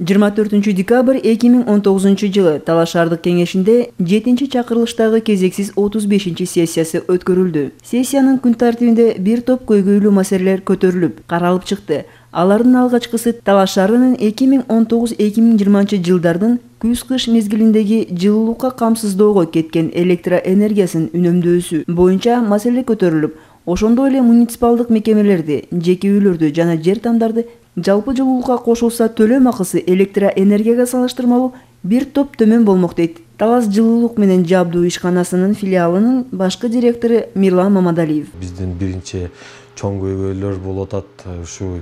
24-декабрь 2019-жылы Талаш шаардык кеңешинде 7-чакырылыштагы кезексиз 35-сессиясы өткөрүлдү. Сессиянын күн тартибинде бир топ көйгөйлүү маселелер көтөрүлүп, каралып чыкты. Алардын алгачкысы Талаш шаарынын 2019-2020 жылдардын күз-кыш мезгилиндеги жылуулукка камсыздоого кеткен электроэнергиясын үнөмдөөсү боюнча маселе көтөрүлүп, ошондой эле муниципалдык мекемелерди, жеке үйлөрдү жана жер тамдарды жалпы жылуулукка кошулса төлөм акысы электроэнергияга салыштырмалуу бир топ төмөн болмок дейт Талас жылуулук менен жабдуу ишканасынын филиалынын башкы директору Мирлан Мамадалиев. Биздин биринчи чоң көйгөйлөр болуп атат ушу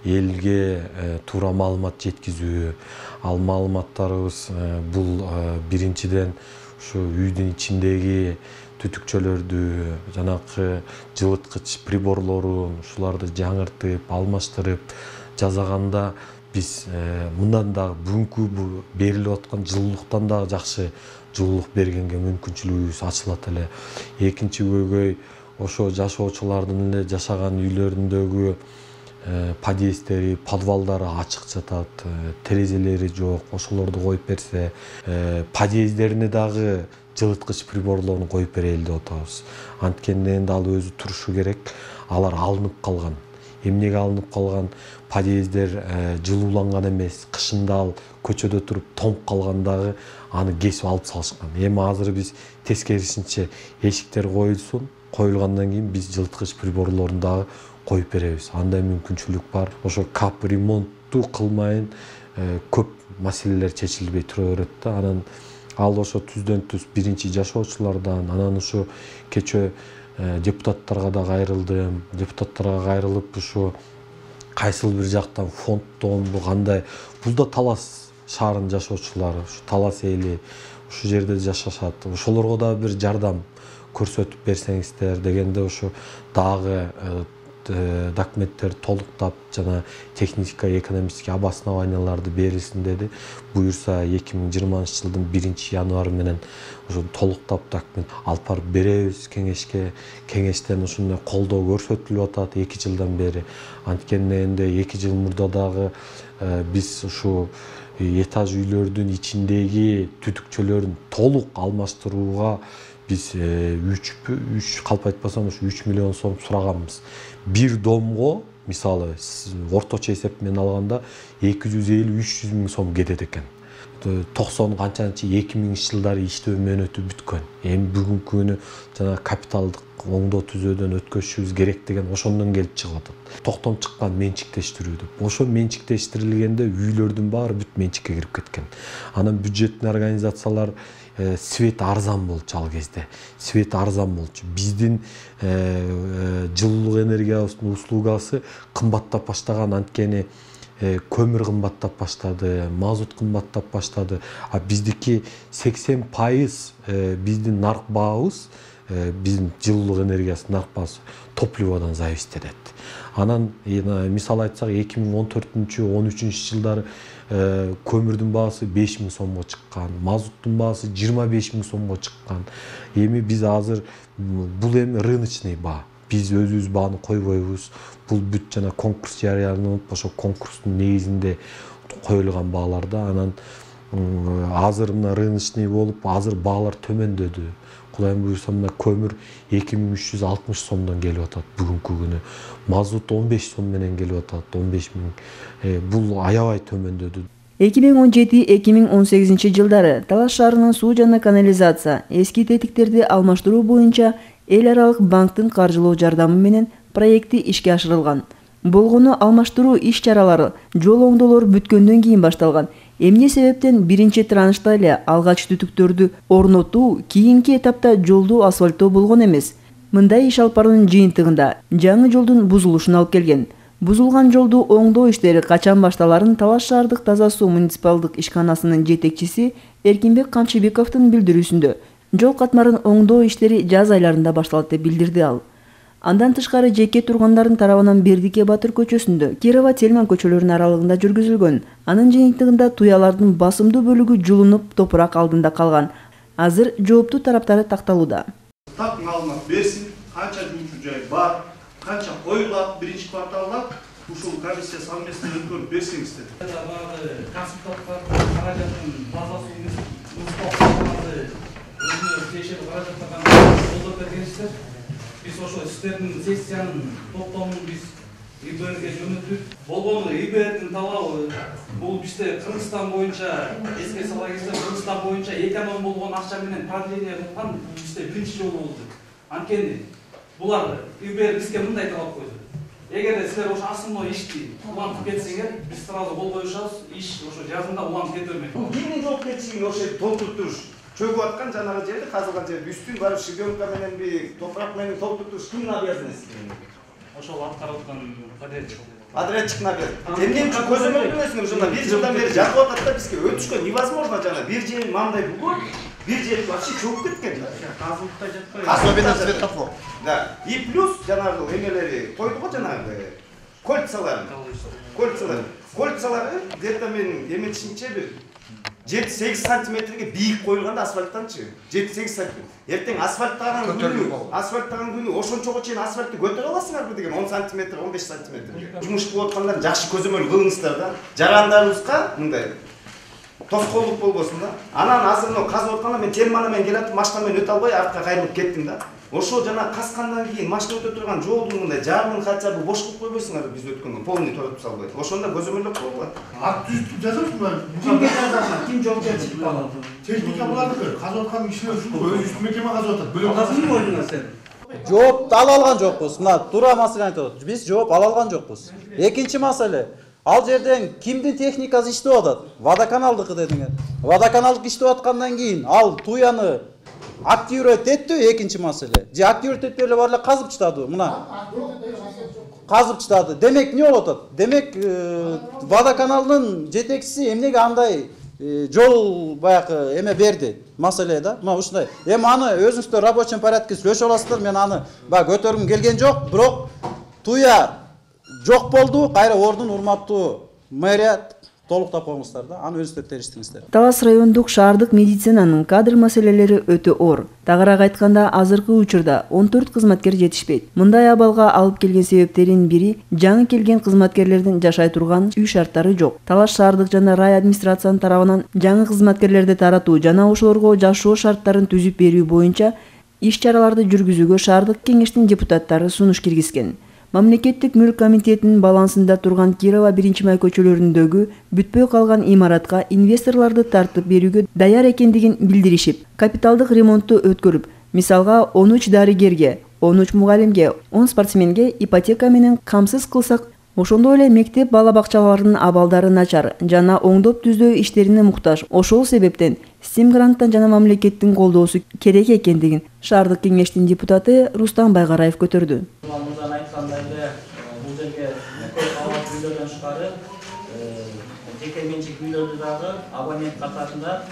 элге туура маалымат жеткизүү. Ал маалыматтарыбыз бул биринчиден ушу үйдүн ичиндеги түтүкчөлөрдү, жанакы жылыткыч приборлорун ушуларды жаңыртып, алмаштырып жасаганда биз мындан дагы бүгүнкү берилип аткан жылуулуктан дагы жакшы жылуулук бергенге мүмкүнчүлүгүбүз ачылат эле. Экинчи көйгөй ошо жашоочулардын эле жашаган үйлөрүндөгү подъезддери, подвалдары ачык жатат, терезелери жок, ошолорду коюп берсе, подъезддерине дагы жылыткыч приборлорун коюп берели деп атабыз. Анткени энди ал өзү турушу керек, алар алынып калган. Эмнеге алынып калган? Подъезддер жылууланган эмес, кышында ал көчөдө туруп тоңуп калгандагы аны кесип алып салышкан. Эми азыр биз тескерисинче эшиктер коюлгандан кийин биз жылыткыч приборлорун дагы коюп беребиз. Андай мүмкүнчүлүк бар. Ошо кап ремонтту кылмайын көп маселелер чечилбей тура берет да. Анан ал ошо түздөн-түз биринчи жашоочулардан, анан ушу кечээ депутаттарга да кайрылдым. Депутаттарга кайрылып ушу кайсыл бир жактан фонддонбу кандай, бул да Талас шаарынын жашоочулары, ушу Талас эли ушу жерде жашашат. Ошолорго да бир жардам көрсөтүп берсеңиздер дегенде ушу дагы документтер толуктап жана техника экономический обоснованияларды берилсин деди. Буюрса 2020 жылдын 1-январь менен ушу толуктап документ алып барып беребиз кеңешке. Кеңештен ушундай колдоо көрсөтүлүп атат 2 жылдан бери. Анткени энди 2 жыл мурда дагы биз ушу этаж үйлөрдүн ичиндеги түтүкчөлөрүн толук алмаштырууга биз 3 калп айтпасам ушу 3 миллион сом сураганбыз. Бир домго мисалы орточо эсеп менен алганда 250-300 миң сом кетет экен. 90 канчанчы 2000 жылдары иштөө мөөнөтү бүткөн. Эми бүгүнкү күнү жана капиталдык оңдоо түзөөдөн өткөзүшүбүз керек деген ошондон келип чыгып атат. Токтом чыккан менчиктештирүү деп. Ошо менчиктештирилгенде үйлөрдүн баары бүт менчикке кирип кеткен. Анан бюджеттин организациялар свет арзан болчу ал кезде. Свет арзан болчу. Биздин жылуулук энергиябыздын услугасы кымбаттап баштаган, анткени көмүр кымбаттап баштады, мазут кымбаттап баштады. А биздики 80% биздин нарк баабыз, биздин жылуулук энергиясынын нарк баасы топливодон зависит этет. Анан мисал айтсак 2014-13 жылдары көмүрдүн баасы 5 миң сомго чыккан, мазуттун баасы 25 миң сомго чыккан. Эми биз азыр бул эми рыночный баа. Биз өзүбүз бааны койбойбуз. Бул бүт жана конкурс жарыяланып, ошо конкурстун негизинде коюлган бааларда. Анан азыр мына рыночный болуп, азыр баалар төмөндөдү. Кудайым буйрса мына көмүр 2360 сомдон келип атат бүгүнкү күнү. Мазут 15 сом менен келип атат, 15 миң. Бул аябай төмөндөдү. 2017-2018 жылдары Талаш шаарынын суу жана канализация, эски тетиктерди алмаштыруу боюнча эл аралык банктын каржылоо жардамы менен проекти ишке ашырылган. Болгону алмаштыруу иш-чаралары жол оңдоолор бүткөндөн кийин башталган. Эмне себептен биринчи траншта эле алгач түтүктөрдү орнотуу кийинки этапта жолду асфальттоо болгон эмес. Мындай иш алып баруунун жыйынтыгында жаңы жолдун бузулушуна алып келген. Бузулган жолду оңдоо иштери качан башталарын Талаш шаардык таза суу муниципалдык ишканасынын жетекчиси Эркинбек Камчыбековдун билдирүүсүндө жол катмарын оңдоо иштери жаз айларында башталат деп билдирди ал. Андан тышкары жеке тургундардын тарабынан Бердике Батыр көчөсүндө, Кирова Тельман көчөлөрүнүн аралыгында жүргүзүлгөн. Анын жыйынтыгында туялардын басымдуу бөлүгү жулунуп, топурак алдында калган. Азыр жооптуу тараптары такталууда. Так маалымат берсин, канча жумуш жай бар, канча коюлат биринчи кварталда, ушул комиссия совместно өткөрүп берсеңиздер. Баягы консультанттардын каражатын базасы өзүнө тиешелүү каражаттардан колдоп бергенсиздер. Биз ошо сиздердин сессиянын топтомун биз ИБРге жөнөтүп, болгону ИБРдин талабы бул бизде Кыргызстан боюнча эске сала кетсем, Кыргызстан боюнча эконом болгон акча менен продление кылган бизде биринчи жолу болду. Анткени булар ИБР бизге мындай талап койду. Эгерде силер ошо асымдоо ишти улантып кетсеңер, биз сразу кол коюшабыз, иш ошо жазында улантып кете бермек. Кимдин жоопкерчилиги ошо толтуруп туруш? Чөгүп аткан жанагы жерди, казылган жерди үстүн барып шибенка мененби, топурак менен толтуруп туруш кимдин обязанности? Ошол аткарып аткан подрядчик. Подрядчиктин обязанности. Эмне үчүн көзөмөл бересиңер? Ошондо 1 жылдан бери жатып атат да бизге өтүшкө невозможно жана бир жери мындай болгон, бир жери вообще чөгүп кеткен. Казылыкта жатпайбы? Особенно светофор. Да. И плюс жанагы эмелери койду го жанагы кольцалар. Кольцалары где-то мен эметишимче бир 7-8 сантиметрге бийик коюлган асфальттанчы. 7-8 сантиметр. Эртең асфальттаган күнү ошончого чейин асфальтты көтөрө аласыңарбы деген 10 сантиметр, 15 сантиметрге. Жумуш кылып аткандар жакшы көзөмөл кылыңыздар да. Жарандарыбызга мындай тоскоолдук болбосун да. Анан азыр мына казып атканда мен термана менен келатып, машина менен өтө албай артка кайрылып кеттим да. Ошо жана каскандан кийин машина өтө турган жолдун мындай жарымын хотя бы бош кылып койбойсуңарбы биз өткөндө, полный торатып салбай. Ошондо көзөмөлдөп коюлат. Акт түзүп жазасызбы? Кимге жазасың? Ким жоопкерчиликти алат? Техника булардыкы. Казып аткан кишилер ушул өз үстү мекеме казып атат. Бөлөк Кызым ойдуңа сен. Жооп ала алган жокпуз. Мына туура маселе айтып атат. Биз жооп ала алган жокпуз. Экинчи маселе. Ал жерден кимдин техникасы иштеп атат? Водоканалдыкы дедиңер. Водоканалдык иштеп аткандан кийин ал туяны активировать этти экинчи маселе. Же активировать этпей эле бар эле казып чыдады. Мына казып чыдады. Демек эмне болуп атат? Демек водоканалдын жетекчиси эмнеге андай жол баягы эме берди маселе да. Мына ушундай. Эми аны өзүңүздөр рабочий порядке сүйлөшүп аласыздар. Мен аны баягы көтөргүм келген жок, бирок туя жок болду. Кайра ордун урматтуу мэрия толуктап коюңуздар да. Аны өзүңүздөр териштиңиздер. Талас райондук шаардык медицинанын кадр маселелери өтө оор. Тагыраак айтканда, азыркы учурда 14 кызматкер жетишпейт. Мындай абалга алып келген себептердин бири жаңы келген кызматкерлердин жашай турган үй шарттары жок. Талас шаардык жана рай администрациянын тарабынан жаңы кызматкерлерди таратуу жана ошолорго жашоо шарттарын түзүп берүү боюнча иш-чараларды жүргүзүүгө шаардык кеңештин депутаттары сунуш киргизген. Мамлекеттик мүлк комитетинин балансында турган Кирова 1-май көчөлөрүндөгү бүтпөй калган имаратка инвесторлорду тартып берүүгө даяр экендигин билдиришип, капиталдык ремонтту өткөрүп, мисалга 13 дарыгерге, 13 мугалимге, 10 спортсменге ипотека менен камсыз кылсак, ошондой эле мектеп бала бакчаларынын абалдары начар жана оңдоп түздөө иштерине муктаж. Ошол себептен Стим гранттан жана мамлекеттин колдоосу керек экендигин шаардык кеңештин депутаты Рустам Байгараев көтөрдү. Мурдан айткандай эле бул жерге кабат үйлөрдөн тышкары жеке менчик үйлөрдү дагы абонент катарында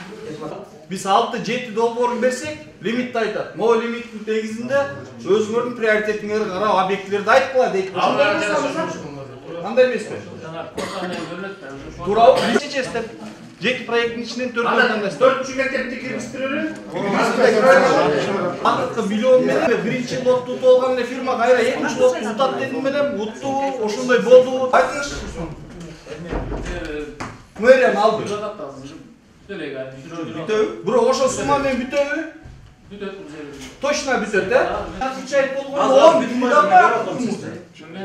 Биз 6-7 долбоорун берсек, лимитти айтат. Могу лимиттин негизинде өзүңөрдүн приоритетиңерге карап объектилерди айткыла дейт. Кандай эмеспи? Туурабы? Биринчи чечтер. 7 проекттин ичинен 4 тандайсыздар. 4-чү мектепти киргизтирели. Акыркы миллион менен биринчи лотту утуп алган эле фирма кайра экинчи лотту утат дедим менен утту, ошондой болду. Айтыңызчы. Мэрияны алды. Бүтөбү? Бирок ошол сумма менен бүтөбү? Бүтөт. Точно бүтөт, э? Отвечать болгондо 10 миллион бар.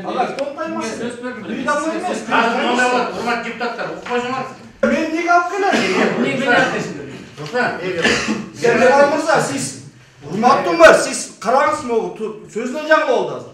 Ага, тонтаймас. Бир дамы эмес. Урмат депутаттар, укпайсыңар. Мен неге алып келем? Сергей мырза, сиз урматтуу мэр, сиз караңыз могу сөзүнөн жаңы болду азыр.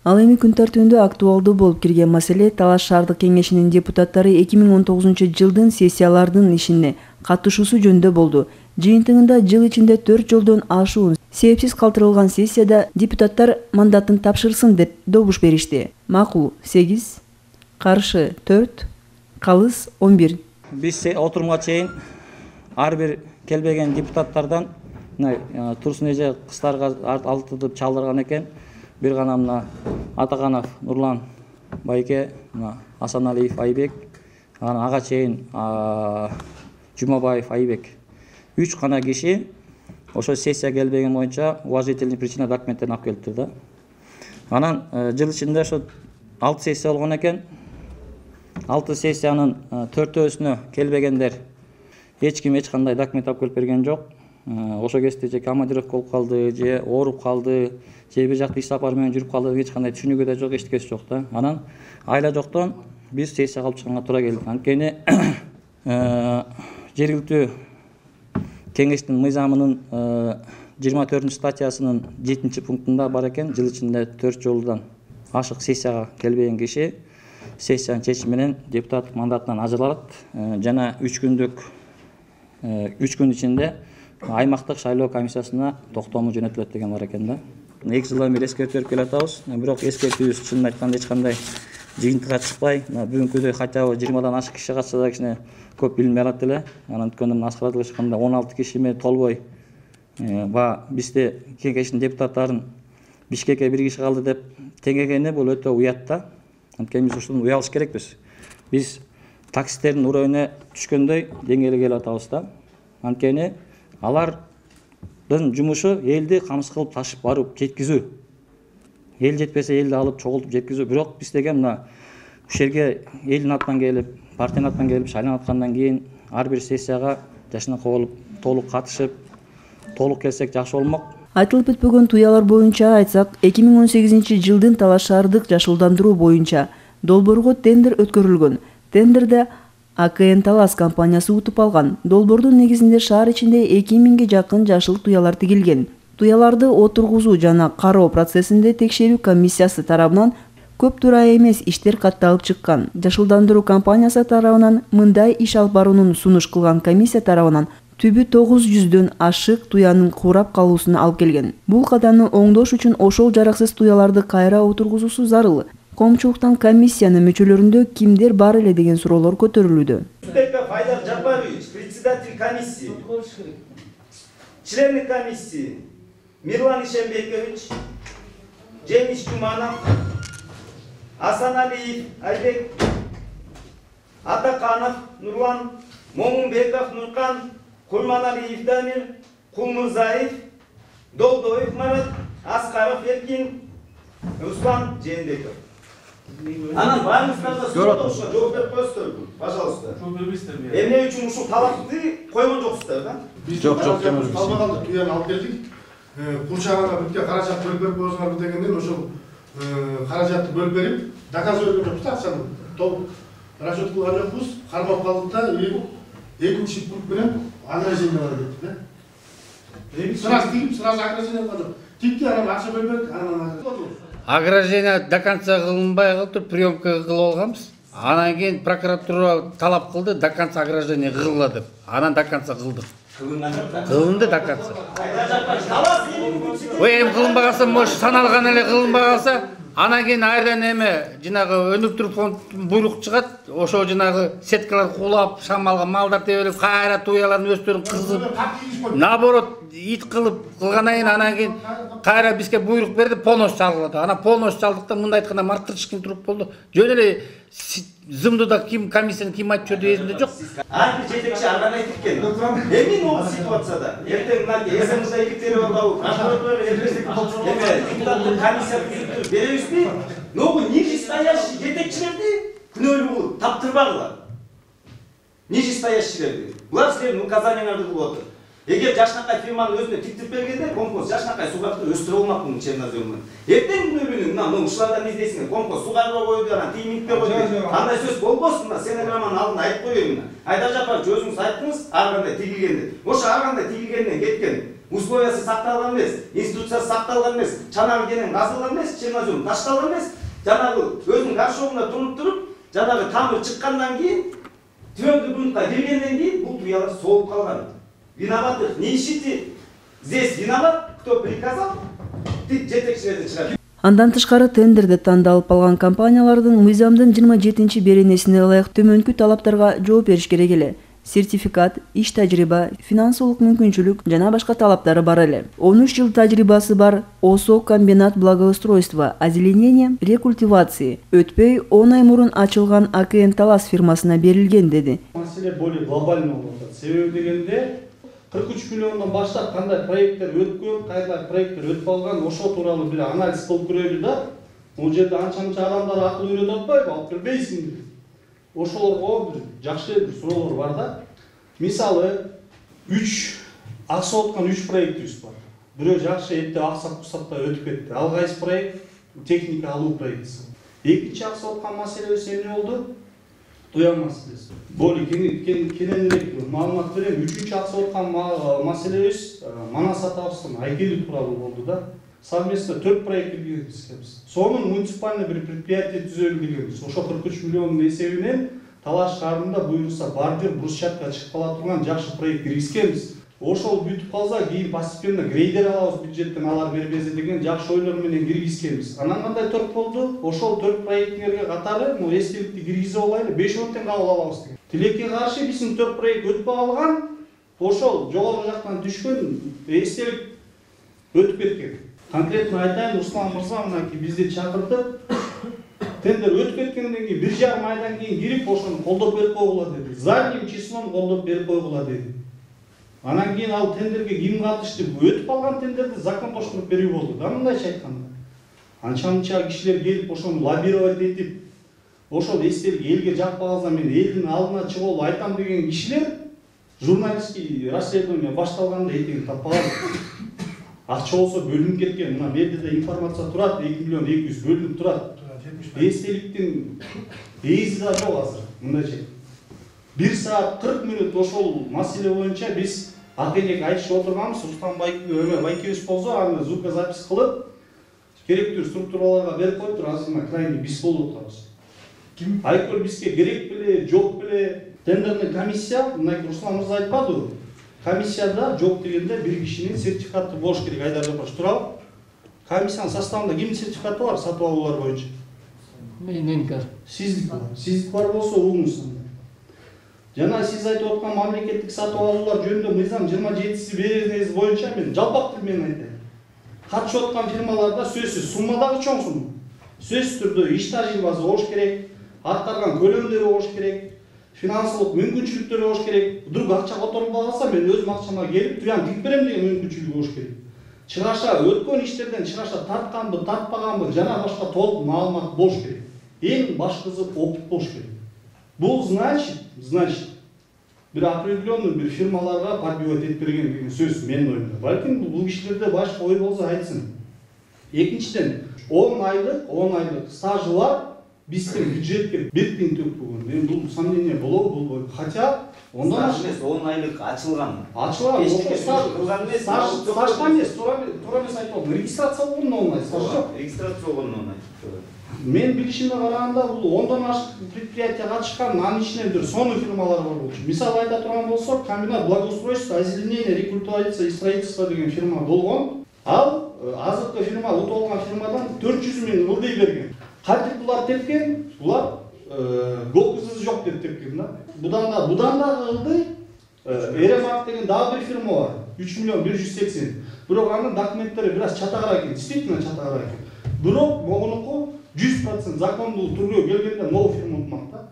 Ал эми күн тартибинде актуалдуу болуп кирген маселе Талас шаардык кеңешинин депутаттары 2019 жылдын сессиялардын ишине катышуусу жөнүндө болду. Жыйынтыгында жыл ичинде 4 жолдон ашуун себепсиз калтырылган сессияда депутаттар мандатын тапшырсын деп добуш беришти. Макул 8, каршы 4, калыс 11. Биз отурумга чейин ар бир келбеген депутаттардан Турсун эже кыздарга алтытып чалдырган экен. Бир гана мына Атаканов Нурлан байке, Асаналиев Айбек, ага чейин Жумабаев Айбек 3 гана киши ошо сессия келбеген боюнча уважительный причина документтерин алып келиптир да. Анан жыл ичинде ошо 6 сессия болгон экен. 6 сессиянын 4-өөсүнө келбегендер эч ким эч кандай документ алып келип берген жок. Ошо кезде же командировка болуп калды, же ооруп калды, же бир жакта иш сапар менен жүрүп калды, эч кандай түшүнүгү да жок, эчтекеси жок да. Анан айла жоктон биз сессия кылып чыкканга туура келди. Анткени жергиликтүү кеңештин мыйзамынын 24-статьясынын 7-пунктунда бар экен, жыл ичинде 4 жолудан ашык сессияга келбеген киши сессиянын чечими менен депутаттык мандатынан ажыралат жана 3 күн ичинде аймактык шайлоо комиссиясына токтому жөнөтүлөт деген бар экен да. 2 жылдан бери эскертип берип келатабыз. Бирок эскертүүбүз чынын айтканда эч кандай жыйынтыкка чыкпай, бүгүнкүдөй хотя бы 20дан ашык киши катышса да кичине көп билинбей алат эле. Анткени аскарат ачканда 16 кишиме толбой бизде кеңештин депутаттарын Бишкекке бир киши калды деп теңегени бул өтө уят да. Анткени биз ушуну уялыш керекпиз. Биз таксисттердин уровуна түшкөндөй деңгээлге келип атабыз да. Анткени алардын жумушу элди камсыз кылып ташып барып жеткизүү. Эл жетпесе элди алып чогултуп жеткизүү. Бирок биз деген мына ушул жерге элдин атынан келип, партиянын атынан келип шайланып аткандан кийин ар бир сессияга жашынакы болуп толук катышып, толук келсек жакшы болмок. Айтылып бүтпөгөн туялар боюнча айтсак, 2018-жылдын талаш шаардык жашылдандыруу боюнча долбоорго тендер өткөрүлгөн. Тендерде АКН Талас компаниясы утуп алган. Долбоордун негизинде шаар ичинде 2000ге жакын жашыл туялар тигилген. Туяларды отургузуу жана кароо процессинде текшерүү комиссиясы тарабынан көп туура эмес иштер катталып чыккан. Жашылдандыруу компаниясы тарабынан мындай иш алып баруунун сунуш кылган комиссия тарабынан түбү 900дөн ашык туянын курап калуусуна алып келген. Бул кадамды оңдош үчүн ошол жараксыз туяларды кайра отургузуусу зарыл. Коомчулуктан комиссиянын мүчөлөрүндө кимдер бар эле деген суроолор көтөрүлүүдө. Файдар Жапарович, председатель комиссии, члены комиссии Мирлан Ишембекович, Жемиш Жуманов, Асаналиев Айбек, Атаканов Нурлан, Момунбеков Нуркан, Курманалиев Дамир, Кулмурзаев, Долдоев Марат, Аскаров Эркин, Руслан Жээнбеков. Анан баарыңыздарга суроолорго жооп берип коесуздар, пожалуйста. Эмне үчүн ушул талапты койгон жоксуздар да? Жок, калбаганды туяны алып келдик. Курчагана бүтке каражат бөлүп берип коюңуздар дегенден ошол каражатты бөлүп берип, заказ өргөн жокпуз, акчаны толук расчет кылган жокпуз. Кармап калдык да, экинчи пункт менен ограничение бар деп да. Сразу тигип, сразу ограничение кылдык. Тикти, анан акча бөлүп бердик, анан ограничение до конца кылынбай калып, приемка кылып алганбыз. Анан кийин прокуратура талап кылды, до конца ограничение кылгыла деп. Анан до конца кылдык. Кылынды до конца. Эми кылынбай калса, может саналган эле кылынбай калса, анан кийин айрдан эме жанагы өнүктүрүү фонд буйрук чыгат. Ошо жанагы сеткалар кулап, шамалга малдар тебелеп, кайра туялардын өстөрүн кызып, наоборот ит кылып кылгандан кийин анан кийин кайра бизге буйрук берди, полностью чалгылады. Анан полностью чалдыкта мындай айтканда мартырышкин туруп болду. Жөн эле зымдуда ким комиссияны ким айтып жүрдү эсимде жок. Ар бир жетекчи арган айтып келди. Эми бул ситуацияда эртең мына СМС иликтери бар, прокуратура депутаттык комиссия түзүп беребизби? Но нижестоящий жетекчилерди күнөөлүү кылып таптырбагыла. Нижестоящийлерди. Булар силердин указанияларды кылып отур. Эгер жашынакай фирманын өзүнө тиктирип бергенде компост жашынакай суугарды өстүрө болмак муну черноземден. Эртең күнөөлүүнү мына ушулардан издейсиңер, компост суугарга койду, анан тиймингке койду. Андай сөз болбосун, мына стенограмманын алдына айтып коеюн мына. Айдар Жапарович өзүңүз айттыңыз, ар кандай тигилген деп. Ошо ар кандай тигилгенден кеткен. Условиясы сакталган эмес, инструкциясы сакталган эмес, чанагы кенен казылган эмес, чернозем ташталган эмес. Жанагы өзүнүн горшогунда туруп, жанагы тамыр чыккандан кийин, твердый грунтка киргенден кийин бул туялар соолуп калган. Виноватых не ищите. Здесь виноват, кто приказал, ты жетекчилерди чыгар. Андан тышкары тендерде тандалып алган компаниялардын мыйзамдын 27-беренесине ылайык төмөнкү талаптарга жооп бериш керек эле. Сертификат, иш тажрыйба, финансылык мүмкүнчүлүк жана башка талаптары бар эле. 13 жыл тажрыйбасы бар ОСО комбинат благоустройства, озеленения, рекультивации өтпөй 10 ай мурун ачылган АКН Талас фирмасына берилген деди. Маселе более глобальный болуп атат. Себеби дегенде 43 миллиондон баштап кандай проекттер өткөн, кандай проекттер өтүп алган, ошо тууралуу бир анализ кылып көрөлү да. Бул жерде анча-мынча адамдар акыл үйрөтүп атпайбы, алып келбейсиңби? Ошолорго бир жакшы бир суроолор бар да. Мисалы, 3 акча аткан 3 проектибиз бар. Бирөө жакшы эптеп аксап-кусаптай өтүп кетти. Ал кайсы проект? Техника алуу проектиси. Экинчи акча аткан маселебиз эмне болду? Туян маселеси. Более кененирээк маалымат берем. 3-үчү акча аткан маселебиз Манас атабыздын айкели тууралуу болду да. Совместно 4 проект киргизебиз. Сонун муниципальный бир предприятие түзөлүп дегенбиз. Ошо 43 миллиондун эсебинен Талаш шаарында буюрса бар жер брусчатка чыгып кала турган жакшы проект киргизгенбиз. Ошол бүтүп калса, кийин постепенно грейдер алабыз бюджеттен, алар бербесе деген жакшы ойлор менен киргизгенбиз. Анан кандай торт болду? Ошол 4 проекттерге катары эстеликти киргизе алайлы, 5-10 тең кабыл алабыз деген. Тилекке каршы биздин 4 проект өтүп калган, ошол жогору жактан түшкөн эстелик өтүп кеткен. Конкретно айтайын, Руслан мырза мынакей бизди чакыртып, тендер өтүп кеткенден кийин 1,5 айдан кийин кирип, ошону колдоп берип койгула деди. Задним числом колдоп берип койгула деди. Анан кийин ал тендерге ким катышты? Өтүп калган тендерди закондоштуруп берүү болду. Да мындайча айтканда. Анча-мынча кишилер келип, ошону лоббировать этип, ошол эстелик элге жакпаганда мен элдин алдына чыгып айтам деген кишилер журналистский расследование башталганда этегин таппаган. Акча болсо бөлүнүп кеткен. Мына берде да информация турат, 2 миллион 200 бөлүнүп турат. Эстеликтин эзи да жок азыр. Мындайча 1 саат 40 минут ошол маселе боюнча биз акенек айтышып отурганбыз. Рустам Байкебиз болсо аны звукозапись кылып керектүү структураларга берип коюптур. Азыр мына крайний биз болуп атабыз. Ким? Айкөл бизге керек беле, жок беле? Тендерный комиссия, мына Руслан мырза айтпадыбы? Комиссияда жок дегенде бир кишинин сертификаты болуш керек. Айдар Жапарович туурабы? Комиссиянын составында кимдин сертификаты бар сатып алуулар боюнча? Менин бар. Сиздики бар. Сиздики бар болсо угуңуз. Жана сиз айтып аткан мамлекеттик сатып алуулар жөнүндө мыйзам 27-си беренеги боюнча мен жалпак тил менен айтайын. Катышып аткан фирмаларда сөзсүз сумма дагы чоң сумма. Сөзсүз түрдө иш тажрыйбасы болуш керек, аткарган көлөмдөрү болуш керек, финансылык мүмкүнчүлүктөрү болуш керек. Вдруг акча которулбай калса мен өзүм акчама келип туян тип берем деген мүмкүнчүлүгү болуш керек. Чыгаша өткөн иштерден чыгаша тартканбы, тартпаганбы жана башка толук маалымат болуш керек. Эң башкысы опыт болуш керек. Бул значит бир определенный бир фирмаларга подбивать этип берген деген сөз менин оюмда. Балким бул кишилерде башка ой болсо айтсын. Экинчиден 10 айлык стажы бар биздин бюджетке 1 тиң төкпөгөн. Мен бул сомнение болобу, бул хотя ондан эмес 10 айлык ачылган. Ошо стаж эмес, туура эмес айтып, регистрация болгон оңай, стаж жок. Регистрация болгон оңай. Мен билишимге караганда бул 10дан ашык предприятие катышкан, анын ичинен бир сонун фирмалар бар болчу. Мисалы айта турган болсок, комбинат благоустройства, озеленения, рекультивация и строительство деген фирма болгон. Ал азыркы фирма утуп алган фирмадан 400 миң ылдый берген. Кантип булар тепкен? Булар гокузы жок деп тепкен да. Будан дагы ылдый Эремак деген дагы бир фирма бар. 3 миллион 180. Бирок анын документтери бир аз чатагыраак экен, действительно чатагыраак экен. Бирок могунуку 100% закондуу түргө келгенде новый фирма утмак да.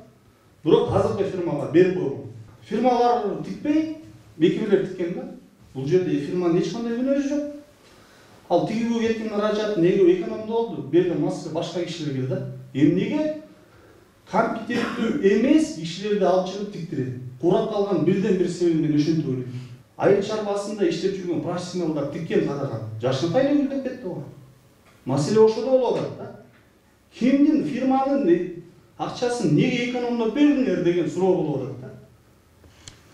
Бирок азыркы фирмага берип койгон. Фирмалар тикпей, мекемелер тиккен да. Бул жерде фирманын эч кандай күнөөсү жок. Ал тигүүгө кеткен каражат неге экономдуу болду? Берген маселе башка кишилерге да. Эмнеге компетенттүү эмес кишилерди алып чыгып тиктирет? Курап калган бирден бир себеби мен ошентип ойлойм. Айыл чарбасында иштеп жүргөн профессионалдар тиккен кадаган жашынкай эле күлдөп кетти го. Маселе ошодо болуп атат да. Кимдин фирманын акчасын неге экономдоп бердиңер деген суроо болуп атат да.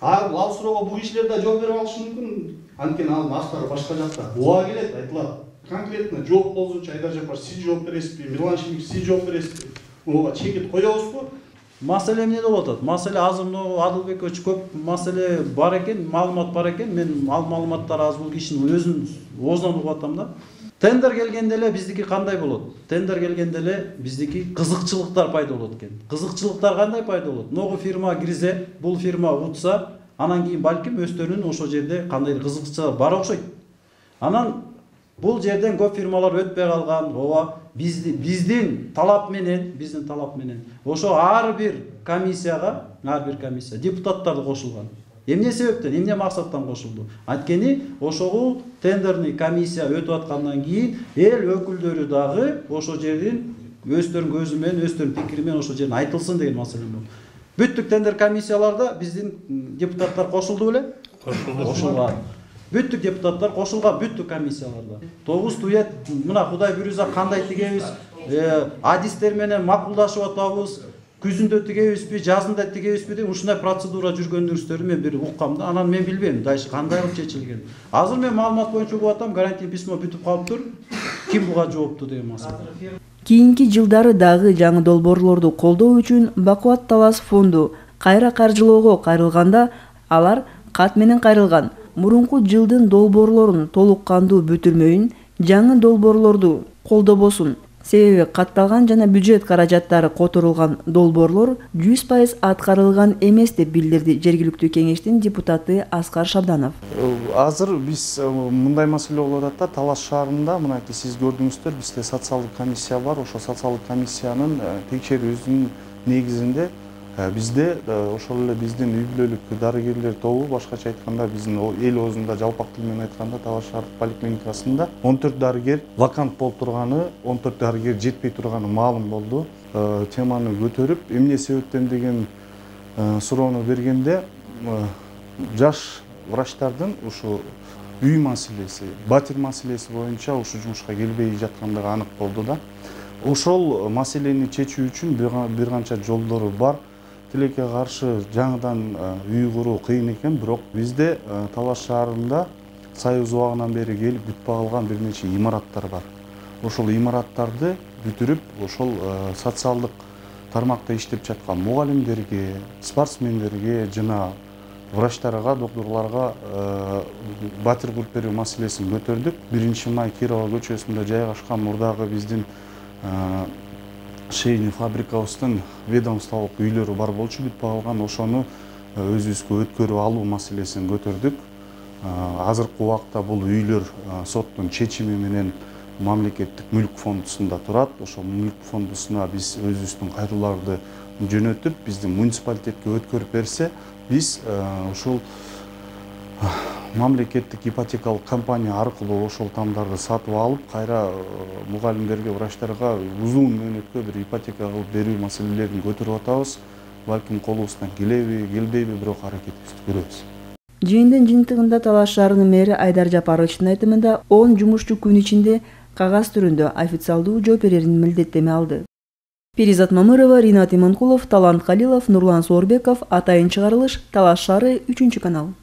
Ал суроого бул кишилер да жооп бере алышы мүмкүн. Анткени анын автары башка жакта. Буга келет, айтылат. Конкретно жооп болсунчу Айдар Жапарович сиз жооп бересизби? Мирлан Шимик сиз жооп бересизби? Ооба чекит коебузбу? Маселе эмне болуп атат? Маселе азыр мына Адылбекович көп маселе бар экен, маалымат бар экен. Мен ал маалыматтар аз бул кишинин өзүнүн оозунан угуп атам да. Тендер келгенде эле биздики кандай болот? Тендер келгенде эле биздики кызыкчылыктар пайда болот экен. Кызыкчылыктар кандай пайда болот? Ногу фирма кирсе, бул фирма утса, анан кийин балким өздөрүнүн ошол жерде кандайдыр кызыкчылыктар бар окшойт. Анан бул жерден көп фирмалар өтпөй калган. Ооба, биздин талап менен ошо ар бир комиссия депутаттарды кошулган. Эмне себептен, эмне максаттан кошулду? Анткени ошого тендерный комиссия өтүп аткандан кийин эл өкүлдөрү дагы ошол жердин өздөрүнүн көзү менен, өздөрүнүн пикири менен ошол жерден айтылсын деген маселе болду. Бүттүк тендер комиссияларда биздин депутаттар кошулду беле? Кошулган. Бүттүк депутаттар кошулган бүттүк комиссияларда. Тогуз туят, мына Кудай буйрса кандай тигебиз, адистер менен макулдашып атабыз, күзүндө тигебизби, жазында тигебизби деп ушундай процедура жүргөндүгүңүздөрдү мен бир уккам да, анан мен билбейм дальше кандай кылып чечилген. Азыр мен маалымат боюнча угуп атам, гарантия письмо бүтүп калыптыр. Ким буга жоопту деген маселе. Кийинки жылдары дагы жаңы долбоорлорду колдоо үчүн Бакубат Талас фонду кайра каржылоого кайрылганда алар кат менен кайрылган. Мурунку жылдын долбоорлорун толук кандуу бүтүрмөйүн, жаңы долбоорлорду колдобосун. Себеби катталган жана бюджет каражаттары которулган долбоорлор 100% аткарылган эмес деп билдирди жергиликтүү кеңештин депутаты Аскар Шабданов. Азыр биз мындай маселе болуп атат да, Талас шаарында мынакей сиз көрдүңүздөр, бизде социалдык комиссия бар. Ошол социалдык комиссиянын текшерүүсүнүн негизинде бизде ошол эле биздин үй бүлөлүк дарыгерлер тобу, башкача айтканда биздин эл оозунда жалпак тил менен айтканда Талас шаардык поликлиникасында 14 дарыгер вакант болуп турганы, 14 дарыгер жетпей турганы маалым болду. Теманы көтөрүп, эмне себептен деген суроону бергенде жаш врачтардын ушу үй маселеси, батир маселеси боюнча ушу жумушка келбей жаткандыгы анык болду да. Ошол маселени чечүү үчүн бир канча жолдору бар. Тилекке каршы жаңыдан үй куруу кыйын экен, бирок бизде Талас шаарында Союз убагынан бери келип бүтпөй калган бир нече имараттар бар. Ошол имараттарды бүтүрүп, ошол социалдык тармакта иштеп жаткан мугалимдерге, спортсмендерге жана врачтарга, докторлорго батир куруп берүү маселесин көтөрдүк. 1-май Кирова көчөсүндө жайгашкан мурдагы биздин шейни фабрикабыздын ведомстволук үйлөрү бар болчу, бүтпөй калган, ошону өзүбүзгө өткөрүп алуу маселесин көтөрдүк. Азыркы убакта бул үйлөр соттун чечими менен мамлекеттик мүлк фондусунда турат. Ошол мүлк фондусуна биз өзүбүздүн кайрылууларды жөнөтүп, биздин муниципалитетке өткөрүп берсе, биз ушул мамлекеттик ипотекалык компания аркылуу ошол тамдарды сатып алып, кайра мугалимдерге, врачтарга узун мөөнөткө бир ипотека кылып берүү маселелерин көтөрүп атабыз. Балким колубуздан келеби, келбейби, бирок аракетибизди көрөбүз. Жыйындын жыйынтыгында Талас шаарынын мэри Айдар Жапаровичтин айтымында 10 жумушчу күн ичинде кагаз түрүндө официалдуу жооп берерин милдеттеме алды. Перизат Мамырова, Ринат Иманкулов, Талант Калилов, Нурлан Соорбеков, Атайын чыгарылыш, Талас шаары, 3-канал.